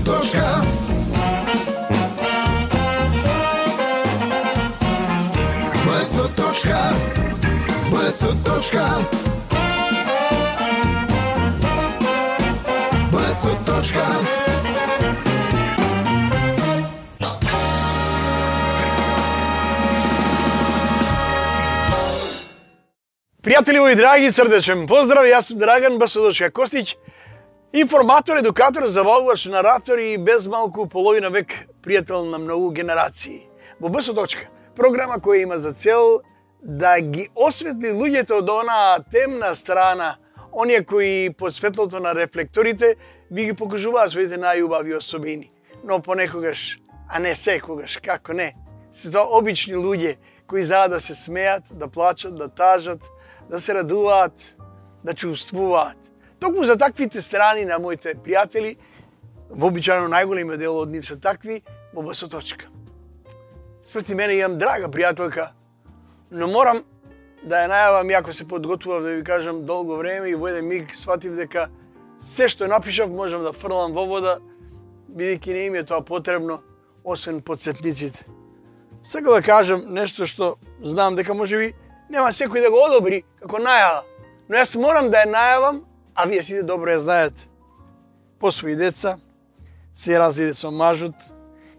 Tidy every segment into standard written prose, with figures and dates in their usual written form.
точка. БС точка. БС точка. БС точка. Пријатели мои драги, срдечен поздрав, јас сум Драган Басодошка Костиќ, информатор, едукатор, забавувач, наратор и без малку половина век пријател на многу генерации. Во БС точка, програма која има за цел да ги осветли луѓето од онаа темна страна, оние кои под светлото на рефлекторите ви ги покажуваат своите најубави особини. Но понекогаш, а не секогаш, како не, се тоа обични луѓе кои за да се смеат, да плачат, да тажат, да се радуваат, да чувствуваат. Токму за таквите страни на моите пријатели, вообичајно најголемиот дел од нив се такви, во БС точка. Спрети мене имам драга пријателка, но морам да ја најавам, иако се подготвував да ви кажам долго време и во еден миг сватив дека се што напишав можам да фрлам во вода, бидејќи не им е тоа потребно, освен подсетниците. Сега да кажам нешто што знам дека можеби нема секој да го одобри како најава, но јас морам да ја најавам, а вие сите добро ја знаете. По своји деца се разиде со мажот,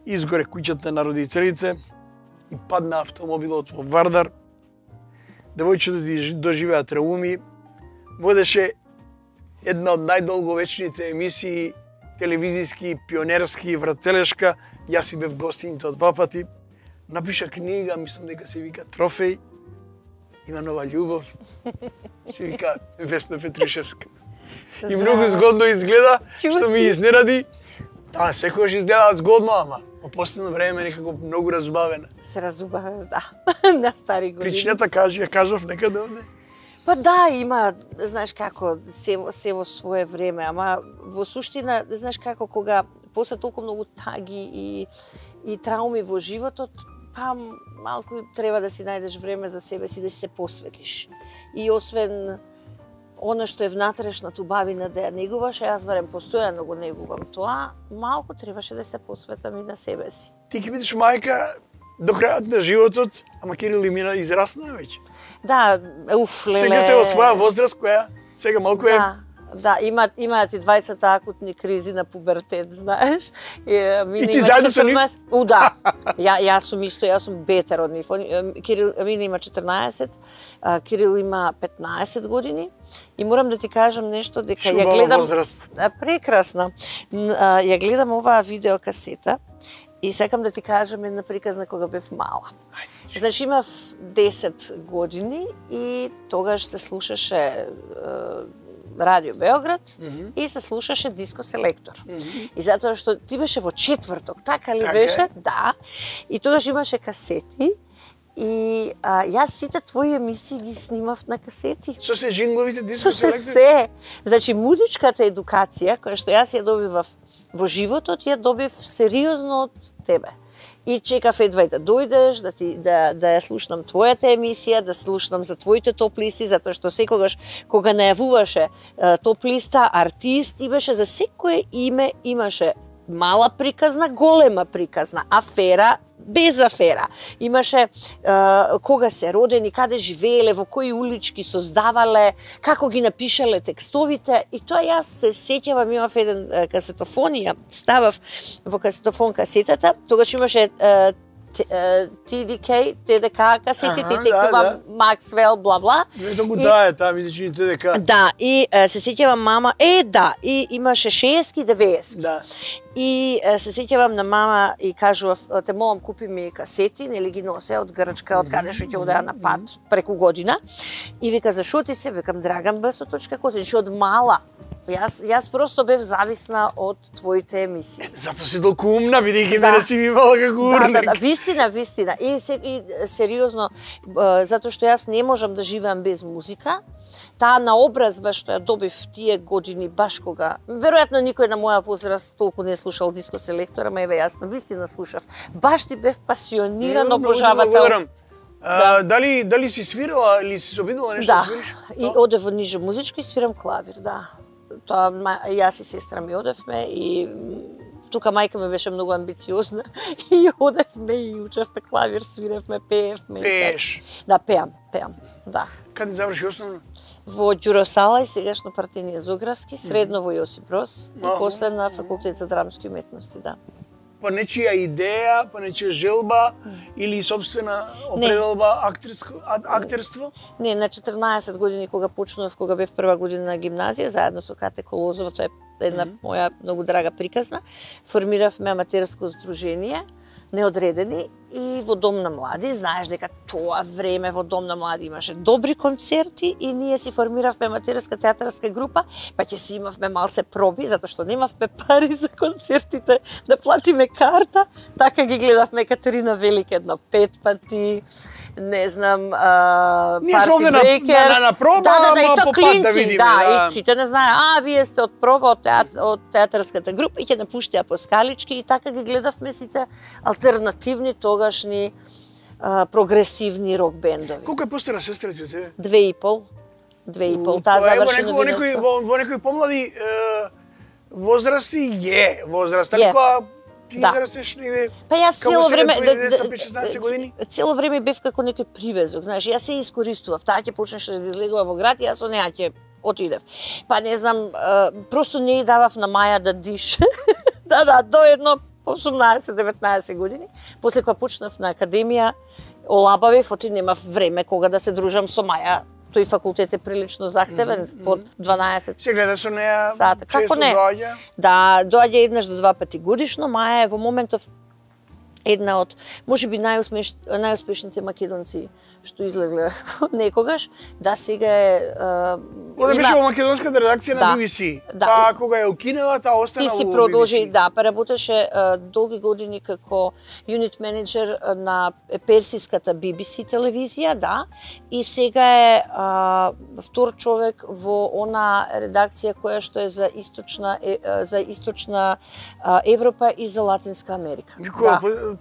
изгоре куќата на родителите и падна автомобилот во Вардар. Девојчето доживеа трауми, водеше една од најдолговечните емисии, телевизиски, пионерски, врателешка, јас си бев гостините од 2 пати, напиша книга, мислам дека се вика Трофеј, има нова љубов, се вика Весна Петришевска. И многу згодно изгледа, што ми изненади. Таа секогаш изгледа згодно, ама во последно време некако многу разубавена. Се разубавена, да, на стари години. Причината ја кажав некаде овде. Па да, има, знаеш како, се во свое време, ама во суштина, знаеш како, кога после толку многу таги и трауми во животот, па малку треба да си најдеш време за себе си, да си се посветиш. И освен она што е внатрешната убавина да ја негуваш, јас барем постојано го негувам тоа, малку требаше да се посветам и на себе си. Ти ќе бидеш мајка до крајот на животот, ама Кирил и мина израсна веќе. Да, леле. Сега се во своја возраст која сега малку е. Да, имаат и двајцата акутни кризи на пубертет, знаеш. И ти заедно со нив? Да. Јас сум исто, јас сум бетер од нив. Кирил, Мина има 14, Кирил има 15 години. И морам да ти кажам нешто, дека ја гледам... возраст. Прекрасна. Ја гледам оваа видеокасета и сакам да ти кажам една приказна кога бев мала. Значи имав 10 години и тогаш се слушаше Радио Београд и се слушаше Диско Селектор. И затоа што ти беше во четврток, така ли беше? Да. И тогаш имаше касети и јас сите твои емисии ги снимав на касети. Со се джингловите Диско Селектор? Со се. Значи музичката едукација, која што јас ја добивав во животот, ја добив сериозно од тебе. И чекав едва да дојдеш, да ја слушнам твојата емисија, да слушнам за твоите топ листи, затоа што секогаш кога најавуваше топ листа, артист, и беше за секое име имаше мала приказна, голема приказна, афера, без афера. Имаше кога се родени, каде живееле, во кои улички создавале, како ги напишале текстовите. И тоа јас се сеќавам, имав еден касетофон и ја ставав во касетофон касетата. Тогаш имаше TDK, TDK касетите, и текнува Максвел, бла-бла. Ето го дае таа, видиш и TDK. Да, и се сеќавам мама, да, и имаше 60-ки и 90-ки. Да. И се сеќавам на мама и кажував, те молам купи ми касети, нели ги носе од Грчка, од каде што ќе одеа на пат преку година. И вика, зашо ти се? Викам, Драган БС точка Костиќ, од мала. Јас просто бев зависна од твоите емисии. Затоа си толку умна, бидејќи мене си ми имала како урник. Да, вистина. И сериозно, затоа што јас не можам да живеам без музика. Таа наобразба што ја добив тие години, баш кога... Веројатно никој на моја возраст толку не слушал Диско Селектор, ама еве јас навистина слушав. Баш ти бев пасиониран обожавател. Дали си свирала или си се обидела нешто да свириш? Да, и одев во ниже музичко и свирам клавир, да. Тоа јас и сестра ми одевме и тука мајка ми беше многу амбициозна и одевме и учевме клавир, свиревме, пеевме. Пееш? Да, пеам, да. Каде заврши основно? Во Ѓуро Сала и сегашно партиње Зографски, средно во Јосип Брос и после на факултет за драмски уметности, да. По нечија идеја, по нечија желба или собствена определба актерство? Не, на 14 години кога почнував, кога бев прва година на гимназија, заедно со Кате Колозова, тоа е една моја многу драга приказна, формиравме аматерско здружение, неодредени, и во Дом на млади. Знаеш дека тоа време во Дом на млади имаше добри концерти и ние си формиравме аматерска театарска група, па ќе си имавме малце проби, затоа што немавме пари за концертите да платиме карта, така ги гледавме Катерина Велика едно 5 пати, не знам, Парти Брейкерс. На проба, да, и то клинци, да видиме, да, и сите не знае, вие сте од проба од театарската група и ќе напуштија по скалички и така ги гледавме сите алтернативни тогашни прогресивни рок бендови. Колку е постара сестрата од тебе? 2,5, таа заврши новинарство. Во некои помлади возрасти возраст, али кога ти израстеш или па јас цело време 16 години? Цело време бев како некој привезок, знаеш, јас се искористував, таа ќе почнеше да излегува во град и јас со неа ќе отидев. Па не знам, просто не ја давав на Маја да дише. Да, до едно 18-19 години, после кога почнав на академија, олабавев, оти немав време кога да се дружам со Маја. Тој факултет е прилично захтевен, под 12 се гледа со неа сата. Како не? Доаѓа? Да, доаѓа еднаш до 2 пати годишно. Маја е во моментов една од, можеби најуспешните македонци што излегле некогаш, да сега е Она беше во македонската редакција на BBC. Па кога ја укинела, таа остана во BBC. Ти си продолжи, да, па работеше долги години како юнит менеджер на персиската BBC телевизија, да, и сега е втор човек во она редакција која што е за источна Европа и за Латинска Америка.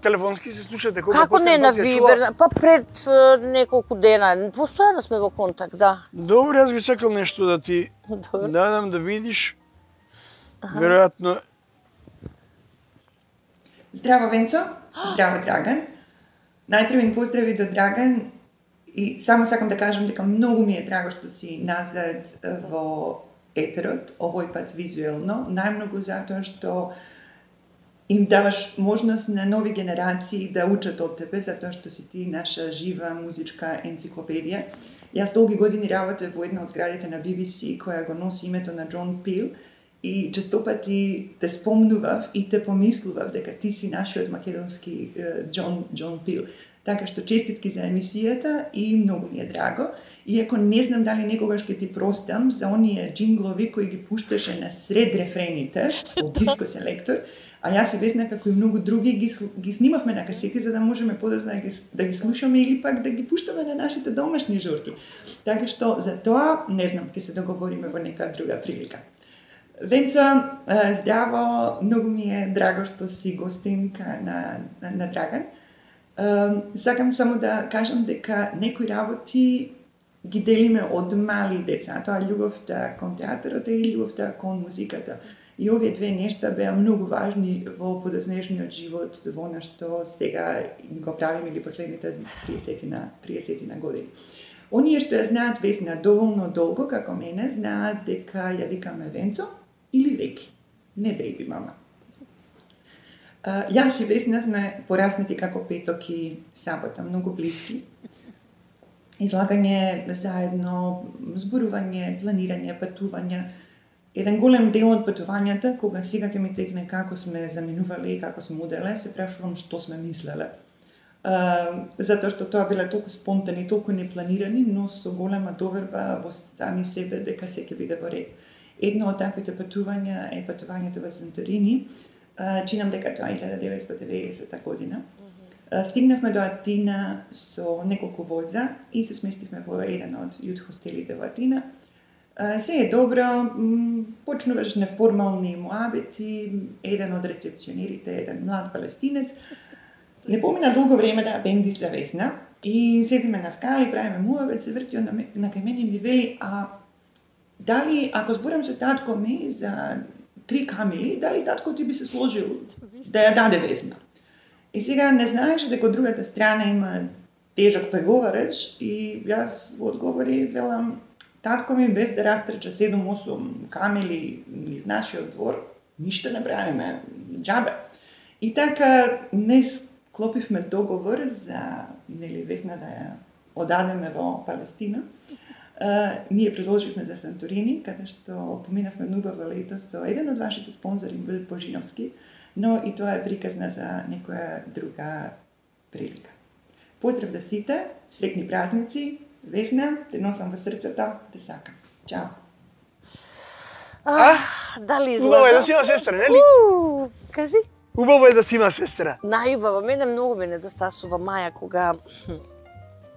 Телефонски се слушате? Како не на Вибер? Па пред неколку дена. Постојано сме во контакт, да. Добре, јас би сакал нешто да ти дадам да видиш. Веројатно... Здраво, Венцо. Здраво, Драган. Најпрви поздрави до Драган и само сакам да кажам дека многу ми е драго што си назад во етерот, овој пат визуелно, најмногу затоа што им даваш можност на нови генерации да учат од тебе, затоа што си ти наша жива музичка енциклопедија. Јас долги години работев во една од зградите на BBC која го носи името на Џон Пил и честопати те спомнував и те помислував дека ти си нашиот македонски Џон Пил. Така што честитки за емисијата и многу ми е драго. Иако не знам дали некогаш ќе ти простам за оние джинглови кои ги пушташе на сред рефрените од диско селектор, а јас и Весна како и многу други ги снимавме на касети за да можеме подоцна да ги слушаме или пак да ги пуштаме на нашите домашни журки. Така што за тоа, не знам, ќе се договориме во нека друга прилика. Венцо, здраво, многу ми е драго што си гостинка на Драган. Сакам само да кажам дека некои работи ги делиме од мали деца, тоа љубовта кон театарот и љубовта кон музиката. И овие две нешта беа многу важни во подоцнежниот живот, во она што сега го правиме или последните 30 години. Оние што ја знаат Весна доволно долго, како мене, знаат дека ја викаме Венцо или Веки, не бејби мама. Јас и Весна сме пораснати како Петок и Сабота, многу блиски. Излагање заедно, зборување, планирање, патување. Еден голем дел од патувањата, кога сега ќе ми текне како сме заминувале и како сме уделе, се прашувам што сме мислеле. Затоа што тоа биле толку спонтани, толку непланирани, но со голема доверба во сами себе дека се ќе биде во ред. Едно од таквите патувања е патувањето во Санторини. Чинам дека тоа е 1990 година. Стигнавме до Атина со неколку воза и се сместивме во еден од јут хостелите во Атина. Се е добро, почнуваш неформални муабети, еден од рецепционерите, еден млад палестинец. Не помина долго време да бенди за Весна и седиме на скали, правиме муабет, се врти на кај мене и ми вели, дали ако зборам со татко ми за 3 камили, дали татко ти би се сложил да ја даде Весна? И сега не знаеше дека од другата страна има тежок преговарач и јас во одговори велам, татко ми без да растрча 7-8 камили низ нашиот двор, ништо не правиме, џабе. И така не склопивме договор за Весна да ја одадеме во Палестина. Ние предложивме за Санторини, каде што поминавме убаво лето со еден од вашите спонзори, Бил Божиновски, но и тоа е приказна за некоја друга прилика. Поздрав да сите, среќни празници, Весна, те носам во срцето, те сакам. Чао. Дали излажа? Убаво е да си има сестра, нели? Кажи. Убаво е да си има сестра. Најубаво, мене многу ме недостасува Маја кога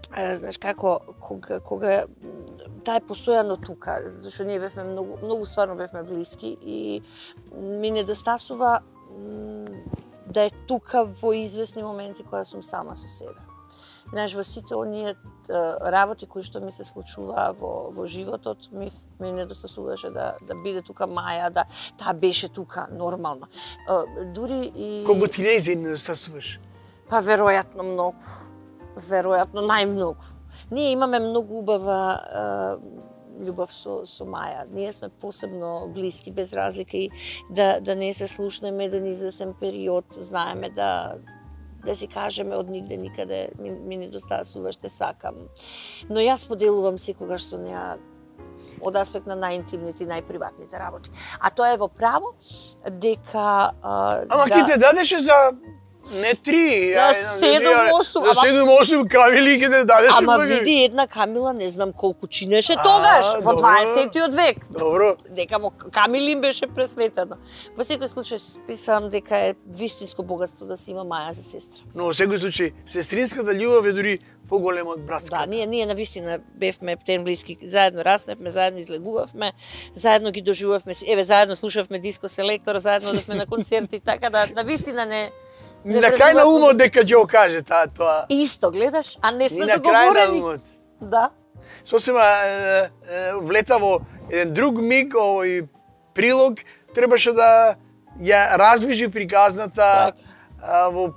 знаеш како кога таа е постојано тука, зашто ние бевме многу стварно бевме блиски и ми недостасува да е тука во извесни моменти кога сум сама со себе. Знаеш, во сите оние работи кои што ми се случуваа во животот, ми недостасуваше да биде тука Маја, да таа беше тука нормално. Дури и Колку ти не недостасуваш? Па веројатно многу. Веројатно најмногу. Ние имаме многу убава љубов со Маја. Ние сме посебно блиски, без разлика и да не се слушнеме еден извесен период, знаеме да си кажеме од нигде никаде ми недостасува, те сакам. Но јас поделувам секогаш со неа од аспект на најинтимните и најприватните работи. А тоа е во право дека Ама ти те дадеше за не 3, за 7-8. За 7-8 камили ќе те дадеше. Ама види, една камила не знам колку чинеше тогаш, во 20-тиот век. Добро. Дека во камили им беше пресметено. Во секој случај списам дека е вистинско богатство да се има Маја за сестра. Но во секој случај, сестринската љубов е дури поголема од братската. Да, ние навистина бевме птен блиски, заедно расневме, заедно излегувавме, заедно ги доживувавме, заедно слушавме Диско Селектор, заедно одевме на концерти, така да навистина не на крај на умот дека ќе го каже тоа. Исто, гледаш, а не сме договорени. И на крај на умот. Да. Сосема влета во еден друг миг, овој прилог, требаше да ја развижи приказната во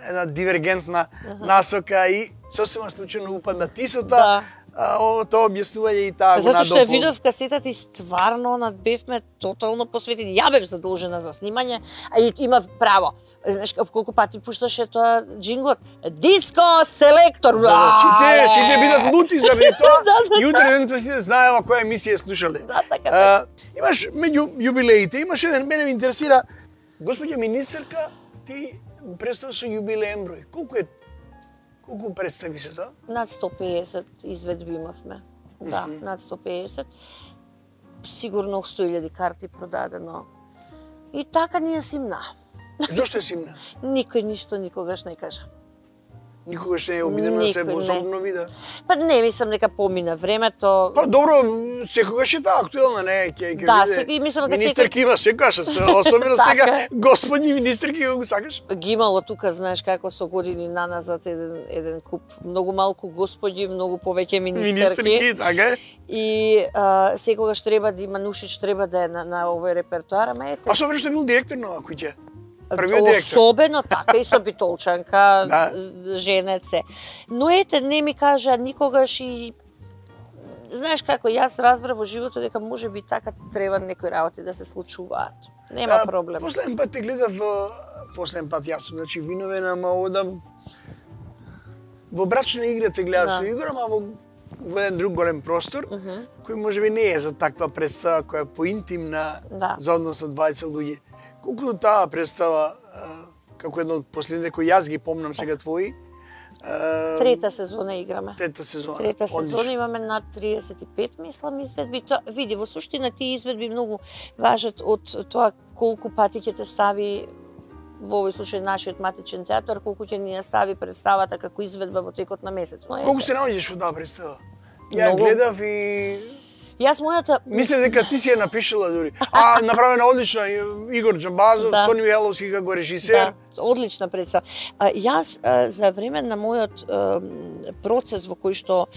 една дивергентна насока и сосема случајно упадна тисота. Тоа објаснување и таа го надопол. Затоа што ја видов касетата и стварно бевме тотално посветени. Ја бев задолжена за снимање, а и има право. Знаеш колку пати пушташе тоа джинглот? Диско Селектор! За да сите бидат лути заради тоа. И утре денот сите знаева која емисија слушале. Да, така. Имаш меѓу јубилеите, имаш еден, мене ме интересира, господја министерка, ти представа со јубилеен број. Колку представи се тоа? Над 150 изведби имавме. Да, над 150. Сигурно 100.000 карти продадено. И така ние симна. Зошто е симна? Никој ништо никогаш не кажа. Никогаш не е обидено да се возобно вида? Па не, мислам дека помина времето. Па добро, секогаш е таа актуелна, не, ќе биде. Мислам дека министерки има секогаш, особено сега, господи министерки го сакаш? Ги имало тука, знаеш како со години наназад еден куп, многу малку господи, многу повеќе министерки. Министерки, така е. И секогаш треба да има Нушич, треба да е на овој репертоар, ама ете. А особено што бил директор на куќа. Особено така и со Битолчанка, женеце. Но ете, не ми кажа никогаш и знаеш како, јас разбрав во животот дека може би така треба некои работи да се случуваат. Нема проблем. Последен пат те гледав, јас сум, значи виновен, ама одам во брачна игра те гледав со Игор, ама во еден друг голем простор, кој можеби не е за таква представа која е поинтимна за однос на 20 луѓе. Колку таа представа, како едно од последните кои јас ги помнам сега твои. Трета сезона играме. Трета сезона. Трета сезона имаме над 35, мислам, изведби. Види, во суштина тие изведби многу важат од тоа колку пати ќе те стави во овој случај нашиот матичен театар, колку ќе ни ја стави представата како изведба во текот на месец. Колку се наоѓаш во таа представа? Ја гледав и Јас мојата... Мисле дека ти си ја напишала дури. А направена одлична Игор Џамбазов, Тони Михайловски како режисер. Да, одлична представа. Јас за време на мојот процес во кој што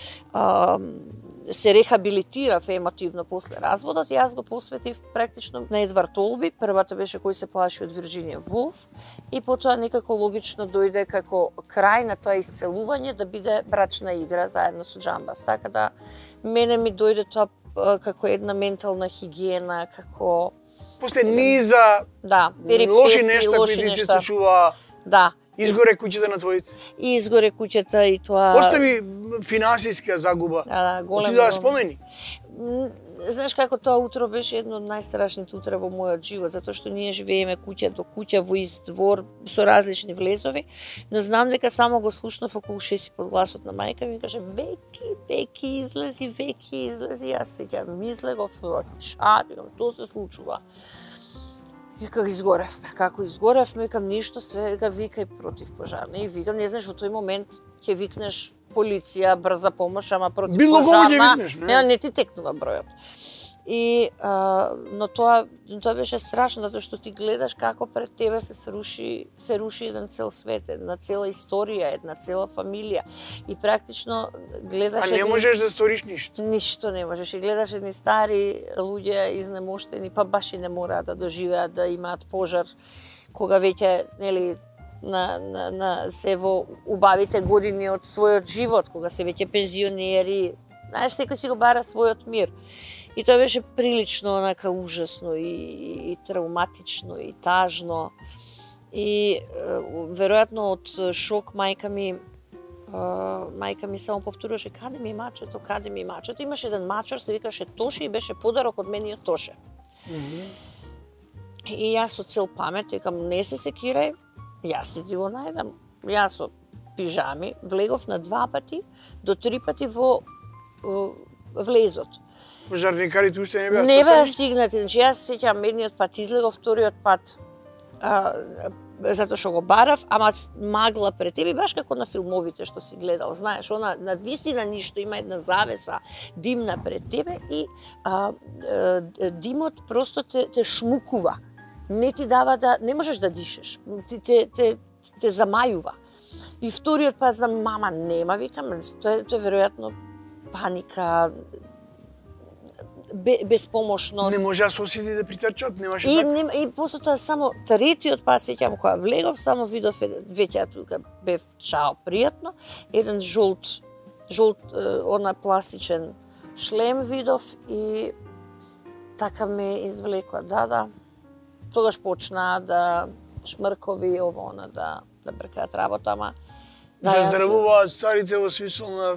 се рехабилитирав емотивно после разводот, јас го посветив практично на Едвард Олби. Првата беше Кој се плаши од Вирџинија Вулф и потоа некако логично дојде како крај на тоа исцелување да биде брачна игра заедно со Џамбас. Така да мене ми дојде тоа како една ментална хигиена, како После низа лоши нешта кои ти се случува. Да. Изгоре куќата на твоите. Изгоре куќата и тоа. Остави финансиска загуба. Да, голема. Ти да спомени. Знаеш како тоа утро беше едно од најстрашните утра во мојот живот, затоа што ние живееме куќа до куќа во ист двор со различни влезови, но знам дека само го слушнав околу 6 под гласот на мајка ми каже Веки излези, јас сеќавам мислев тоа се случува. И како изгоревме, викам ништо, сега викај против пожарна. И викам, не знаеш, во тој момент ќе викнеш полиција, брза помош, ама против било пожарна, викнеш, не ти текнува бројот. И но тоа беше страшно, затоа што ти гледаш како пред тебе се руши еден цел свет, една цела историја, една цела фамилија. И практично гледаш... А не можеш да сториш ништо? Ништо не можеш. И гледаш едни стари луѓе изнемоштени, па баш и не мораат да доживеат да имаат пожар, кога веќе, нели, на се во убавите години од својот живот, кога се веќе пензионери. Знаеш, секој си го бара својот мир. И тоа беше прилично онака ужасно и травматично и тажно. И веројатно од шок мајка ми само повторуваше каде ми мачето. Имаше еден мачар, се викаше Тоше и беше подарок од мениот Тоше. И јас со цел памет викам не се секирај, јас ќе ти го најдам. Јас со пижами влегов на 2 пати до 3 пати во влезот. Пожарникарите уште не беа Не беа стигнати, значи јас сеќавам едниот пат излегов, вториот пат затоа што го барав, ама магла пред тебе, баш како на филмовите што си гледал, знаеш, она на вистина ништо, има една завеса димна пред тебе и димот просто те шмукува. Не ти дава да, не можеш да дишеш, те замајува. И вториот пат знам, мама нема, викам, тоа е веројатно паника, беспомошност. Не може да се осети да притрчат, немаше така. И после тоа само третиот пат сеќавам кога влегов, само видов веќе тука бев чао пријатно, еден жолт она пластичен шлем видов и така ме извлекла, да. Тогаш почна да шмркови ово она да бркаат работа, ама да здравуваат старите во смисол на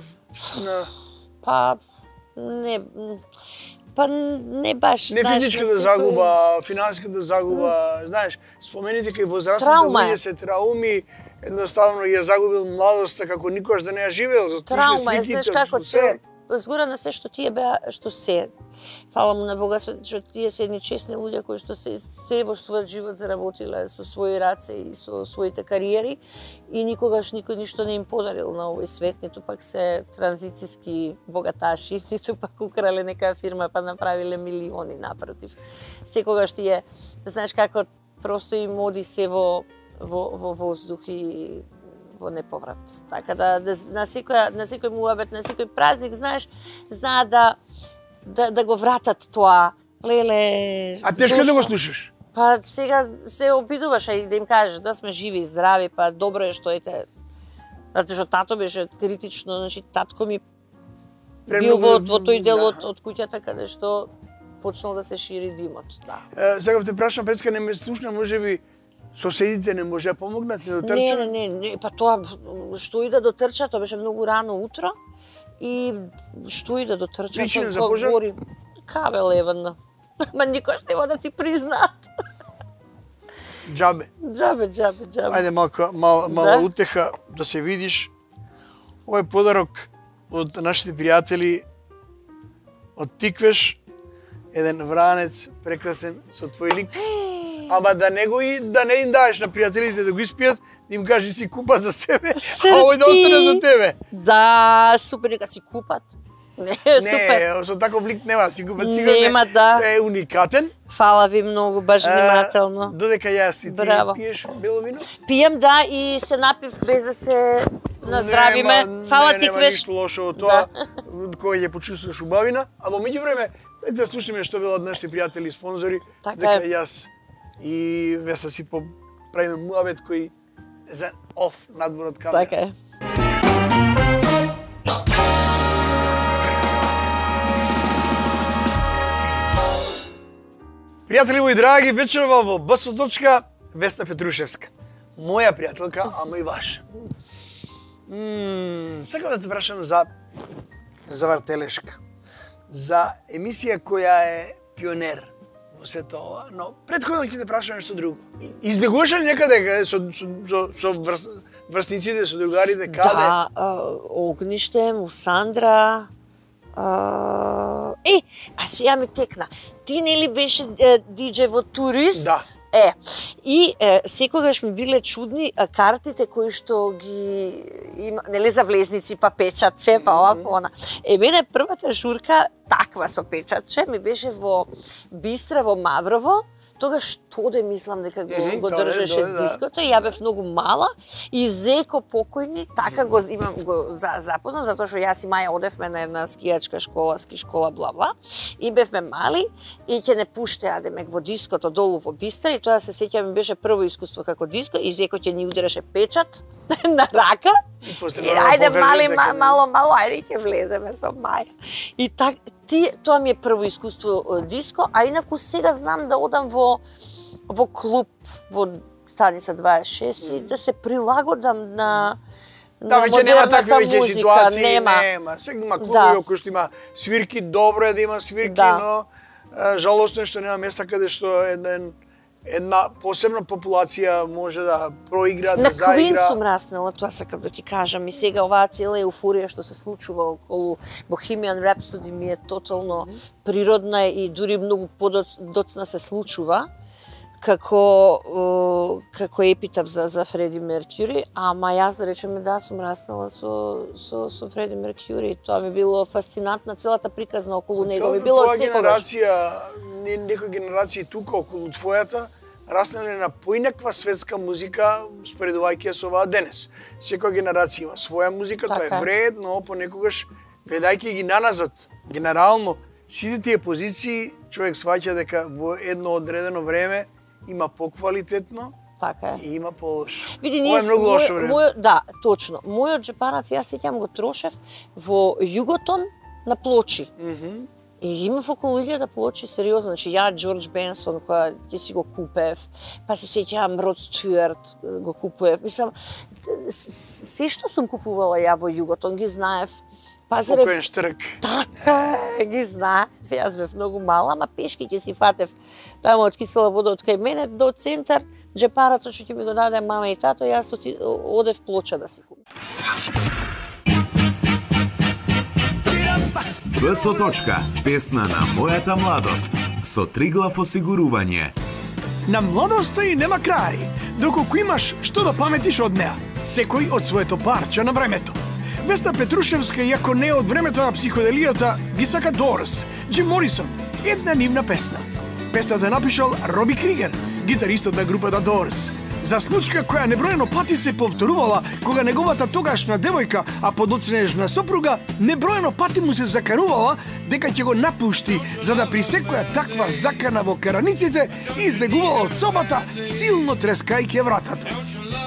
не баш, не физичката загуба, финансиската загуба, знаеш, спомените кај возрастните луѓе се трауми, едноставно ја загубил младоста како никогаш да не ја живеел. Травма е, знаеш како се, згора на се што тие беа, што се. Фала му на Бога што тие се едни честни луѓе кои што се во својот живот заработиле со своји раце и со своите кариери и никогаш никој ништо не им подарил на овој свет, ниту пак се транзицијски богаташи, ниту пак украле некоја фирма па направиле милиони, напротив. Секогаш тие, знаеш како просто им оди се во воздух и во неповрат. Така да на секој муабет, на секој празник, знаеш, знаат да го вратат тоа. Леле. А тешко да го слушаш? Па сега се обидуваш и да им кажеш да сме живи и здрави, па добро е што ете. Затоа што тато беше критично, значи татко ми бил во тој дел од куќата каде што почнал да се шири димот, да. Сега те прашам, Пецка, не ме слушна, можеби соседите не може да помогнат, не дотрча? Не, па тоа што и да дотрча, тоа беше многу рано утро и што и да дотрча, причина за пожар? Кабел евенно. Ма никош нема да ти признаат. Џабе. Ајде мала утеха да се видиш. Ова е подарок од нашите пријатели од Тиквеш, еден вранец прекрасен со твој лик. Ама да не им даеш на пријателите да го испијат, да им кажеш си купат за себе, а овој да остане за тебе. Да, супер, нека си купат. Не, супер. Не, со таков лик нема, сигурно Нема, да. е уникатен. Фала ви многу, баш внимателно. Додека јас и ти Браво. пиеш бело вино? Пијам, да, и се напив без да се наздравиме. Фала ти, Нема Квеш. ништо лошо од тоа, кој ќе почувствуваш убавина, а во меѓувреме, дајте да слушнеме што велат нашите пријатели и спонзори, Така дека е. јас и Веса си правиме муавет кој за оф надвор од камера. Така е. Пријатели мои драги, вечерва во БС точка Весна Петрушевска. Моја пријателка, ама и ваша. Сакам да те прашам за Вартелешка. За емисија која е пионер во сето ова, но претходно ќе те прашам нешто друго. Излегуваш ли некаде со врсниците, со другарите, каде? Да, Огниште, Мусандра, а сега ми текна. Ти нели беше диџеј во Турист? Да. И секогаш ми биле чудни картите кои што ги има, нели за влезници, па печатче, па ова, па она. Мене првата журка таква со печатче ми беше во Бистра, во Маврово. Тогаш Тоде мислам дека го држеше диското, ја бев многу мала и Зеко покојни, така го имам запознав, затоа што јас и Маја одевме на една скијачка школа, ски школа, бла-бла, и бевме мали и ќе не пуштеа демек во диското долу во Бистра, и тоа се сеќавам ми беше прво искуство како диско, и Зеко ќе ни удреше печат на рака. И ајде мали, мало, ајде ќе влеземе со Маја. И така, тоа ми е прво искуство диско, а инаку сега знам да одам во клуб во станица 26 и да се прилагодам на веќе нема такви музика. ситуации, нема. Сега има клубови кои што има свирки, добро е да има свирки, но жалосно е што нема места каде што една посебна популација може да проигра, да заигра. На Квин сум раснала, тоа сакам да ти кажам. И сега оваа цела еуфорија што се случува околу Bohemian Rhapsody ми е тотално природна и дури многу подоцна се случува како епитап за Фреди Меркјури, ама јас да речеме да сум раснала со Фреди Меркјури. Тоа ми било фасцинантна целата приказна околу него. Би било од секогаш. Некои генерации тука околу твојата раснале на поинаква светска музика споредувајќи со оваа денес. Секоја генерација има своја музика, тоа е вредно, понекогаш гледајќи ги наназад, генерално сите тие позиции човек сваќа дека во едно одредено време има поквалитетно, така и има полошо. Види, ова е многу лошо време. Да, точно. Мојот джепарац, јас сеќам го трошев во Југотон на плочи. И имав околу 1000 плочи, сериозно. Значи, ја Џорџ Бенсон, која ти си го купев, па се сеќавам Род Стюарт, го купував. Мислам, се што сум купувала ја во Југотон, ги знаев. Покоен Штрк. Така, ги знаев. Јас бев многу мала, ама пешки ќе си фатев таму од кисела вода од кај мене до центар, джепарацот што ќе ми го даде мама и тато, јас одев плоча да си купам. БСО точка, песна на мојата младост, со Триглав осигурување. На младоста и нема крај, доколку имаш што да паметиш од неа, секој од своето парче на времето. Весна Петрушевска, иако не од времето на психоделијата, ги сака Doors, Джим Морисон, една нивна песна. Песната е напишал Роби Кригер, гитаристот на групата Doors. За случка која неброено пати се повторувала кога неговата тогашна девојка, а подоцнежна сопруга, неброено пати му се закарувала дека ќе го напушти, за да при секоја таква закана во караниците излегувала од собата, силно трескајќи вратата.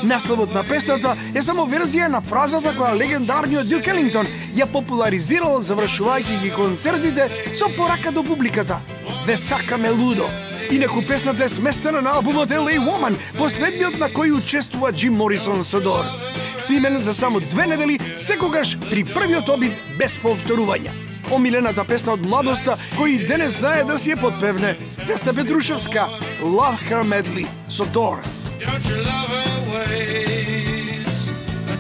Насловот на песната е само верзија на фразата која легендарниот Дюк Елингтон ја популаризирал завршувајќи ги концертите со порака до публиката: "Ве сакаме лудо". Инаку песната е сместена на албумот LA Woman, последниот на кој учествува Джим Морисон со Doors. Снимен за само 2 недели, секогаш при првиот обид без повторувања. Омилената песна од младоста, кој денес знае да си ја подпевне, Весна Петрушевска, Love Her Madly со Doors. Don't you love her ways?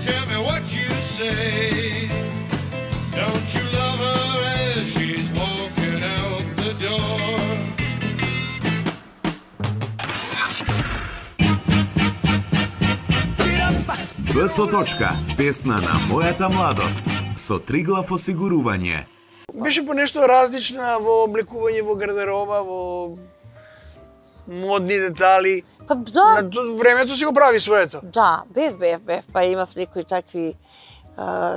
Tell me what you say. Don't you love her as she's walking out the door? БСО точка, песна на мојата младост, со Триглав осигурување. Беше по нешто различна во облекување, во гардероба, во модни детали. Па да, На времето си го прави своето. да, бев, па имав некои такви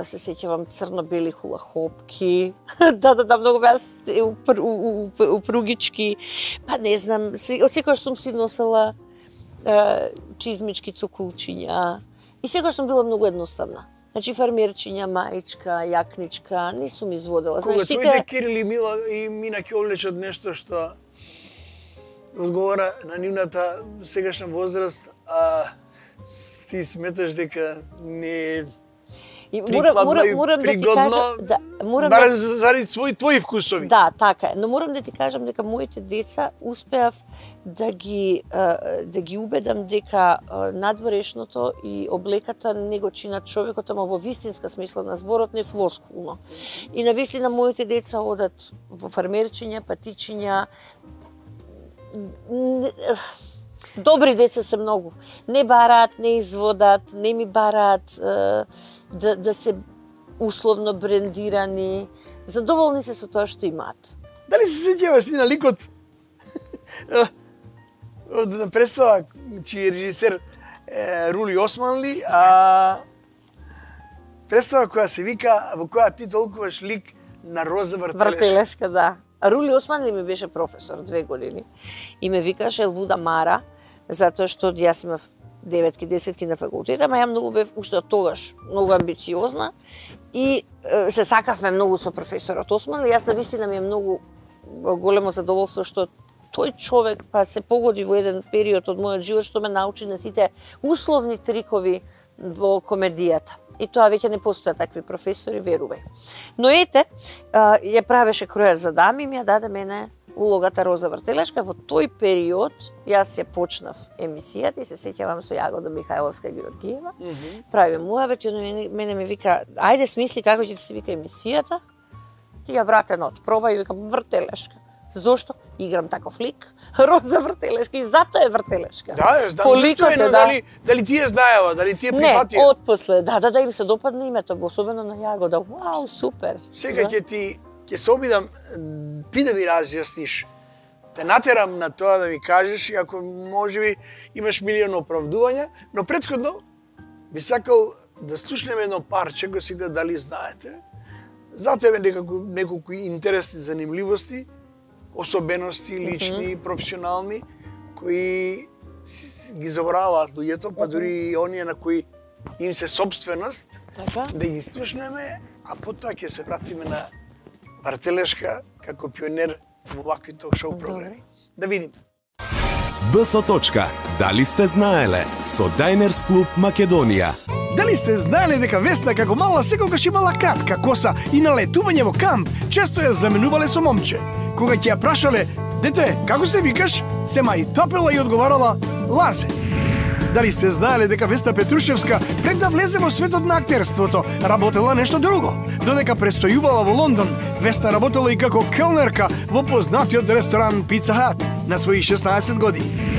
се сеќавам црно-бели хулахопки. да, многу беа упругички. Па не знам, од секогаш сум си носела чизмички, цокулчиња. И секогаш сум била многу едноставна. Значи фармерчиња, маичка, јакничка, не сум изводела. Кога Знаеш, твоите Кирил и Мина ќе облечат нешто што одговара на нивната сегашна возраст, а ти сметаш дека не И прикладно и морам да ти пригодно, кажам, да, морам барем да, заради твои вкусови. да, така е, но морам да ти кажам дека моите деца успеав да ги убедам дека надворешното и облеката не го чинат човекот, ама во вистинска смисла на зборот, не флоскулно. И навистина моите деца одат во фармерчиња, патичиња, добри деца се многу. Не бараат, не изводат, не ми бараат да се условно брендирани. Задоволни се со тоа што имаат. Дали се сеќаваш ти на ликот од представа чиј режисер Рули Османли, а представа која се вика, во која ти толкуваш лик на Роза Вртелешка. Вртелешка, да. А Рули Османли ми беше професор 2 години и ме викаше Луда Мара, затоа што јас имав 9-ки, 10-ки на факултет, ама ја многу бев уште од тогаш многу амбициозна и се сакавме многу со професорот Османли. Јас навистина ми е многу големо задоволство што тој човек па се погоди во еден период од мојот живот што ме научи на сите условни трикови во комедијата. И тоа веќе не постојат такви професори, верувај. Но ете, ја правеше Кројар за дами и ми ја даде мене улогата Роза Вртелешка. Во тој период јас ја почнав емисијата и се сеќавам со Јагода Михајловска Георгиева. Правиме муабет и мене ми вика, ајде смисли како ќе се вика емисијата. Ти ја вратен од проба и викам Вртелешка. Зошто? Играм таков лик, Роза Вртелешка и затоа е Вртелешка. Да, ја знам зашто е, но дали ти ја знаева, дали ти ја прифатија? Не, отпосле, да, им се допадна името, особено на Јагода. Вау, супер. Сега ќе се обидам ти да ми разјасниш, те натерам на тоа да ми кажеш, ако можеби имаш милион оправдувања, но претходно би сакал да слушнеме едно парче, го сега дали знаете, за тебе неколку интересни занимливости, особености, лични, професионални, кои ги забораваат луѓето, па дури и оние на кои им се собственост, да ги слушнеме, а потоа ќе се вратиме на Вртелешка како пионер во вакви ток-шоу програми. Да видим. БС точка. Дали сте знаеле? Со Дайнерс клуб Македонија. Дали сте знаеле дека Весна како мала секогаш имала кратка коса и на летување во камп често ја заменувале со момче? Кога ќе ја прашале, дете, како се викаш, сема и топела и одговарала, Лазе. Дали сте знаеле дека Весна Петрушевска пред да влезе во светот на актерството, работела нешто друго? Додека престојувала во Лондон, Весна работела и како келнерка во познатиот ресторан Pizza Hut на своји 16 години.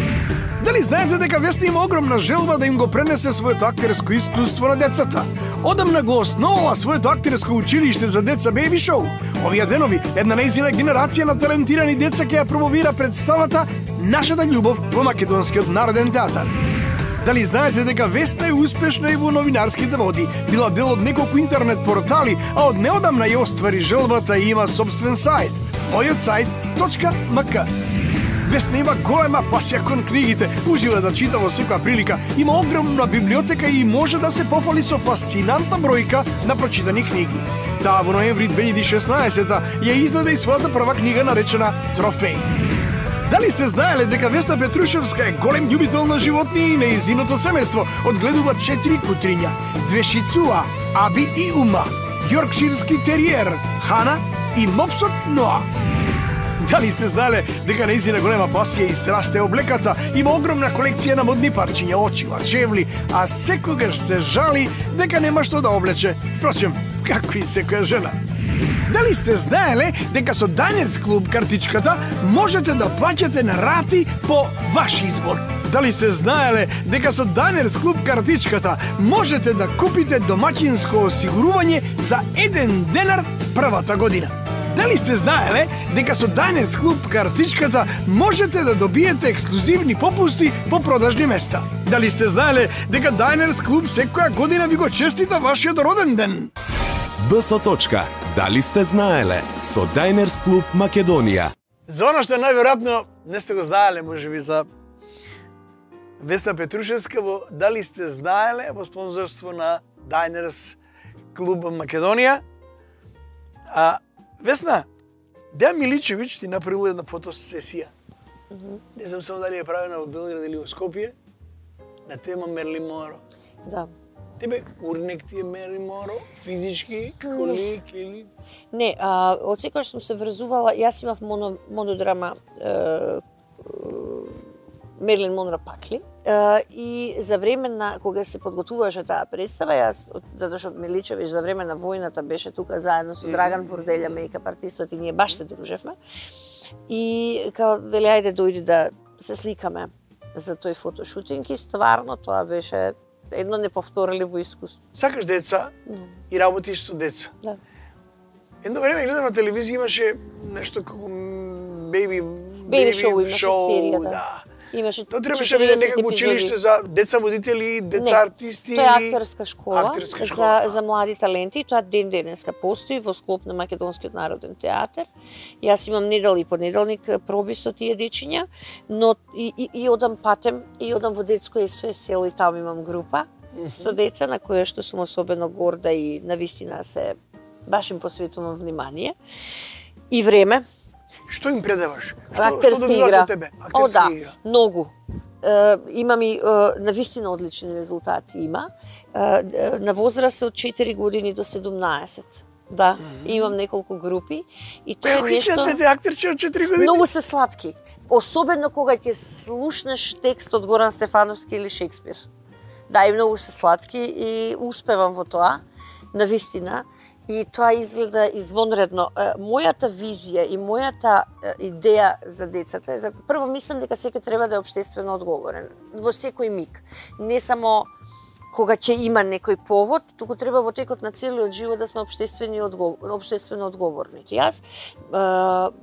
Дали знаете дека Весна има огромна желба да им го пренесе своето актерско искуство на децата? Одамна го основала своето актерско училиште за деца Baby Show. Овие денови една нејзина генерација на талентирани деца ќе ја промовира представата Нашата љубов во Македонскиот народен театар. Дали знаете дека Весна е успешна и во новинарските води, била дел од неколку интернет портали, а од неодамна ја оствари желбата и има собствен сајт, mojotsajt.mk. Весна има голема пасија кон книгите, ужива да чита во секоја прилика, има огромна библиотека и може да се пофали со фасцинантна бројка на прочитани книги. Таа во ноември 2016 ја издаде и својата прва книга наречена Трофеј. Дали сте знаеле дека Весна Петрушевска е голем љубител на животни и нејзиното семејство одгледува 4 кутриња, 2 шицуа, Аби и Ума, јоркширски териер, Хана и мопсот Ноа. Дали сте знаеле дека нејзина голема пасија и страст е облеката, има огромна колекција на модни парчиња, очила, чевли, а секогаш се жали дека нема што да облече. Впрочем, какви секоја жена. Дали сте знаеле дека со Дайнерс клуб картичката можете да плаќате на рати по ваш избор? Дали сте знаеле дека со Дайнерс клуб картичката можете да купите домаќинско осигурување за 1 денар првата година? Дали сте знаеле дека со Diners Club картичката можете да добиете ексклузивни попусти по продажни места? Дали сте знаеле дека Diners Club секоја година ви го честита вашиот роден ден? БС. Дали сте знаеле со Diners Club Македонија? За оно што најверојатно не сте го знаеле, можеби за Весна Петрушевска во Дали сте знаеле во спонзорство на Diners Club Македонија. Весна, Дејан Миличевиќ ти направил една фотосесија. Не знам само дали е правена во Белград или во Скопје, на тема Мерлин Моро. Да. Тебе урнек ти е Мерлин Моро, физички, како лик или... Не, од секогаш сум се врзувала, јас имав монодрама Мерлин Монро Пакли. И за време на кога се подготвуваше таа представа, јас, затоа што Миличевиќ за време на војната беше тука заедно со Драган Ворделја, мејкап артистот, и ние баш се дружевме. И као вели ајде дојди да се сликаме за тој фотошутинг, и стварно тоа беше едно неповторливо искуство. Сакаш деца и работиш со деца. Да. Едно време гледам на телевизија, имаше нешто како Baby шоу, имаше серија, да. Имаше тоа требаше да биде некако училиште за деца водители, деца артисти или... Тоа е актерска школа, школа. За млади таленти, и тоа ден денеска постои во склоп на Македонскиот народен театар. Јас имам недел и понеделник проби со тие дечиња, но и одам патем, и одам во детско СОС село, и таму имам група со деца на која што сум особено горда, и навистина се баш им посветувам внимание и време. Што им предаваш? Актерска игра. Актерска да, игра. многу. Имам и навистина одлични резултати има. На возраст од 4 години до 17. Да, имам неколку групи и тоа е нешто... Како се актерче од 4 години? Многу се сладки. Особено кога ќе слушнеш текст од Горан Стефановски или Шекспир. Да, и многу се сладки и успевам во тоа, навистина. И тоа изгледа извонредно. Мојата визија и мојата идеја за децата е, прво мислам дека секој треба да е општествено одговорен во секој миг. Не само кога ќе има некој повод, туку треба во текот на целиот живот да сме општествено одговорни. Јас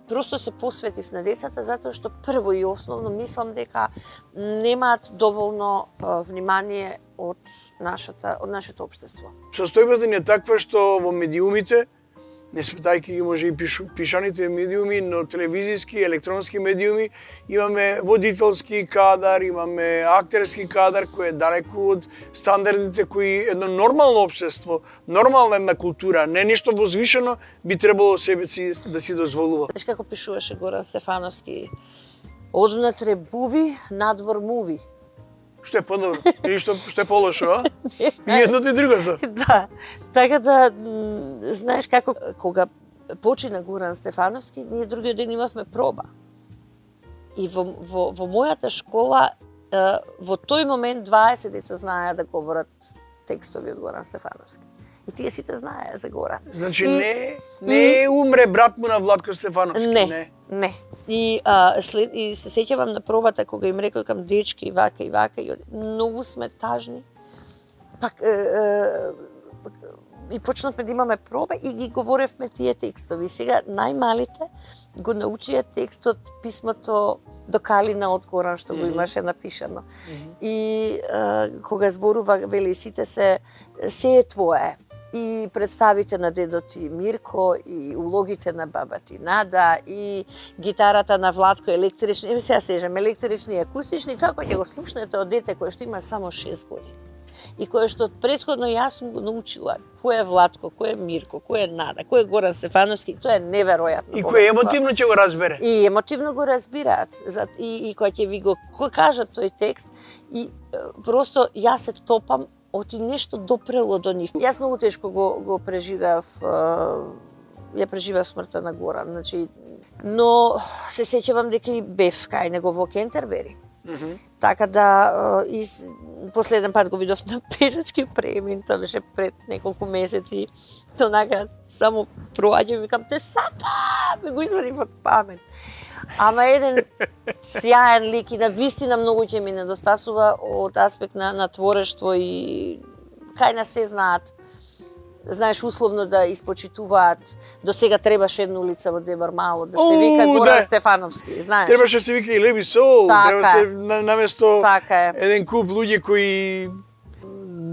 просто се посветив на децата затоа што прво и основно мислам дека немаат доволно внимание од нашето општество. Состојбата ни е таква што во медиумите, не сметајќи ги може и пишаните медиуми, но телевизиски, електронски медиуми, имаме водителски кадар, имаме актерски кадар кој е далеку од стандардите кои едно нормално општество, нормална една култура, не нешто возвишено, би требало себе си да си дозволува. Знаеш како пишуваше Горан Стефановски? Одвнатре буви, надвор муви. Што е подобро? Или што е полошо, а? И едното и другото. Да. Така да, знаеш како, кога почина Горан Стефановски, ние другиот ден имавме проба. И во мојата школа, во тој момент 20 деца знаеа да говорат текстови од Горан Стефановски. И тие сите знаеа за Горан. Значи не умре брат му на Владко Стефановски, не. И се сеќавам на пробата кога им рекој кам дечки и вака, и многу сме тажни. Пак и почнавме да имаме проба и ги говоревме тие текстови. Сега најмалите го научија текстот, писмото до Калина од Горан што го имаше напишано. И кога зборува, вели сите се е твое. И представите на дедо ти Мирко, и улогите на баба ти Нада, и гитарата на Владко, електрични, сега сежам, електрични и акустични, тоа кој ќе го слушнете од дете кој што има само 6 години. И кој што предходно јас сум го научила кој е Владко, кој е Мирко, кој е Нада, кој е Горан Стефановски, тоа е неверојатно. И кој емотивно ќе го разбере. И емотивно го разбираат. И кој ќе ви го кажат тој текст, и просто јас се топам оти нешто допрело до нив. Јас многу тешко го преживеав, ја преживеав смртта на Горан, значи, но се сеќавам дека и бев кај него во Кентербери. Така да, последен пат го видов на пешачки премин, тоа беше пред неколку месеци, онака само проаѓам и викам, те сакам, го извадив од памет. Ама еден сјаен лик и навистина многу ќе ми недостасува од аспект на творештво и кај нас се знаат знаеш, условно да испочитуваат. До сега требаше една улица во Дебар Мало да се вика Горан Стефановски, знаеш. Требаше се вика и Леби Сол, треба се наместо еден куп луѓе кои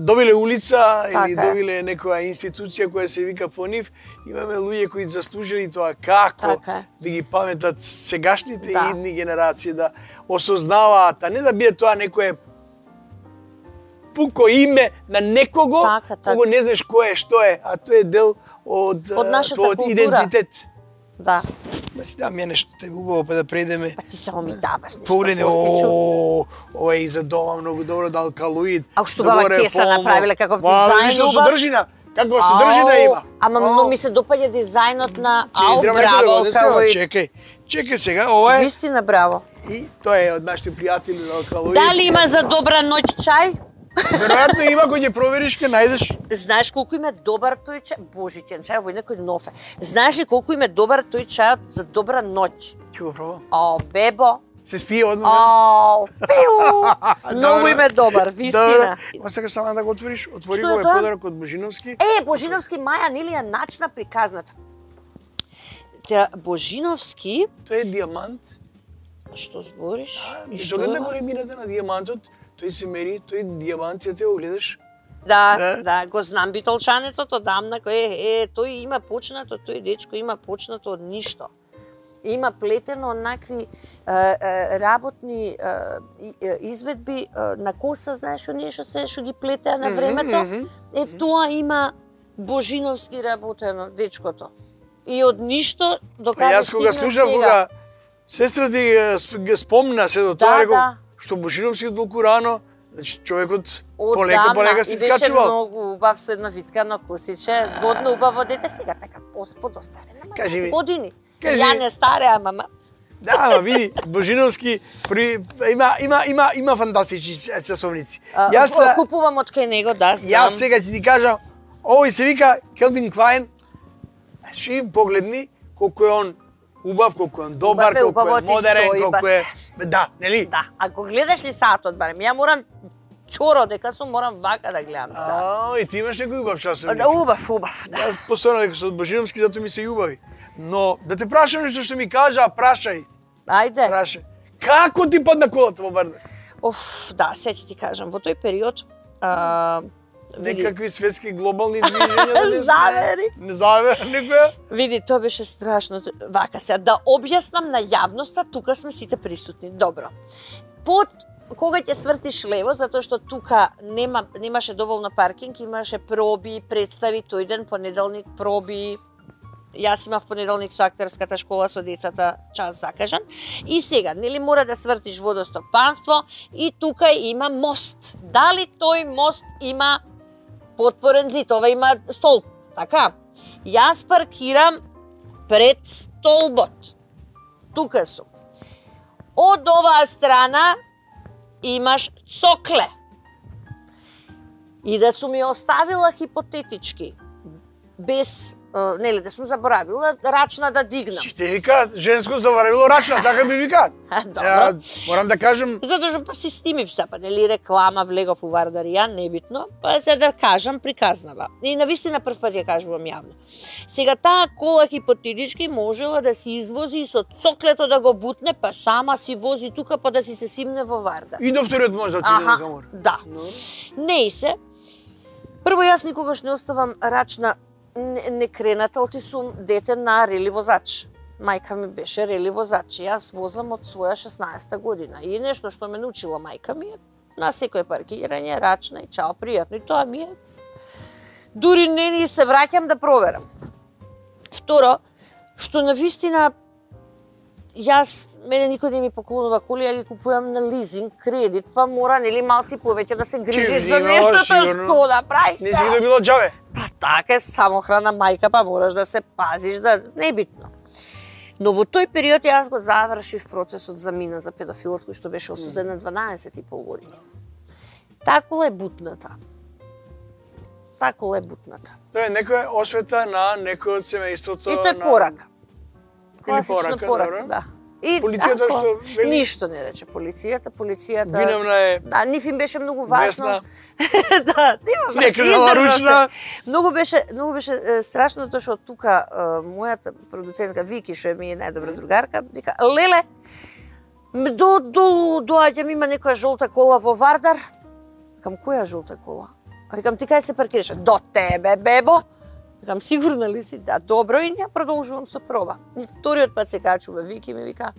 добиле улица или добиле некоја институција која се вика по нив, имаме луѓе кои заслужили тоа како да ги паметат сегашните и идни генерации, да осознаваат, а не да биде тоа некое пуко име на некого, кого не знаеш кој е, што е, а тоа е дел од твојот идентитет. Да. Да си дам ја нешто те убаво па да преидеме. Па ти само ми даваш нешто. Погледе, ова е и за дома многу добро, да алкалоид. А што баба Кеса направиле каков дизајн убав? Што содржина, каква содржина има. Ама многу ми се допаѓа дизајнот на браво алкалоид. Чекај сега, ова е. Вистина браво. И тоа е од нашите пријатели на алкалоид. Дали има за добра ноќ чај? Веројатно има, кој ќе провериш, ке најдеш. Знаеш колку им е добар тој чај? Божитен чај, во некој нов е. Знаеш ли колку им е добар тој чај за добра ноќ? Ќе го пробам. О, бебо. Се спие одма. О, пиу. Многу им е добар, вистина. Ма сакаш само да го отвориш? Отвори го, е подарок од Божиновски. Божиновски Маја, нели ја начна приказната. Божиновски... Тој е диамант. Што збориш? И што гледа големината на диамантот? Тој се мери, тој диамантите го гледаш. Да, го знам битолчанецот одамна, тој има почнато, тој дечко има почнато од ништо. Има плетено онакви работни изведби на коса, знаеш, оние што ги плетеа на времето. Тоа има Божиновски работено, дечкото. И од ништо до каде стигна сега. Јас кога слушав, кога сестра ти спомна се до тоа, рекол, што Божиновски толку рано, значи човекот полека се скачувал. И беше многу убав со една витка на косиче, згодно убаво дете, сега така подостарена, ама години. Ја не стареа, мама. Да, ама види, Божиновски има фантастични часовници. Јас купувам од кај него, да, знам. Јас сега ќе ти кажам, овој се вика Келвин Клайн. Ши погледни колку е он убав, колку е он добар, колку е модерен, колку е... Да, нели? Да, ако гледаш ли саатот, барем, ја морам чоро дека сум, морам вака да гледам саат. И ти имаш некој убав часовник? Да, убав, да. Јас постојано дека со Божиновски, зато ми се убави. Но, да те прашам нешто што ми кажа, прашај. Ајде. Прашај. Како ти падна колата во бардак? Да, сега ќе ти кажам, во тој период... Некакви светски глобални движења, завери. Не завери никоја. Види, тоа беше страшно. Вака сега, да објаснам на јавноста, тука сме сите присутни. Добро. Кога ќе свртиш лево, затоа што тука немаше доволно паркинг, имаше проби, представи, тој ден, понеделник, проби. Јас имав понеделник со актерската школа со децата час закажан. И сега, нели мора да свртиш водостопанство и тука има мост. Дали тој мост има потпорен зид, ова има столб, така? Јас паркирам пред столбот. Тука сум. Од оваа страна имаш цокле. И да сум ја оставила хипотетички, без, нели, да сум заборавила рачна да дигнам. Сите викаат, женско заборавило рачна, така би викаат. Добро. Морам да кажам... Затоа па си снимив се, па нели реклама, влегов у Вардарија, небитно, па се да кажам приказнава. И навистина прв пат ја кажувам јавно. Сега таа кола хипотетички можела да си извози и со цоклето да го бутне, па сама си вози тука, па да си се симне во Вардар. И до вториот може да отиде на камор. Да. Не и се. Прво јас никогаш не оставам рачна не крената, оти сум дете на рели возач. Мајка ми беше рели возач. Јас возам од своја 16-та година. И нешто што ме научила мајка ми е на секој паркирање, рачна и чао, пријатно. И тоа ми е. Дури не ни се враќам да проверам. Второ, што навистина мене никој не ми поклонува коли, ја ги купувам на лизинг, кредит, па мора нели малци повеќе да се грижиш за нештото, што да правиш. Не си ги добила џаве. Па така е, самохрана мајка, па мораш да се пазиш, да небитно. Но во тој период јас го завршив процесот за мина за педофилот кој што беше осуден на 12,5 години. Тако е бутната. Тако е бутната. Тоа е некоја освета на некој од семејството. И тоа е порака. Или порака, добро. Да. Полицијата што вели? Ништо не рече полицијата. Виновна е Да, нив им беше многу важно. Весна. Да, нема врска, Некрнала издржа ручна. се. Многу беше страшно тоа што тука мојата продуцентка Вики, што е ми е најдобра другарка, вика: "Леле, доаѓам, има некоја жолта кола во Вардар." Викам: "Која жолта кола?" Викам: "Ти кај се паркираш?" "До тебе, бебо." Викам: "Сигурна ли си?" "Да, добро." И ја продолжувам со проба. И вториот пат се качува Вики и ми вика: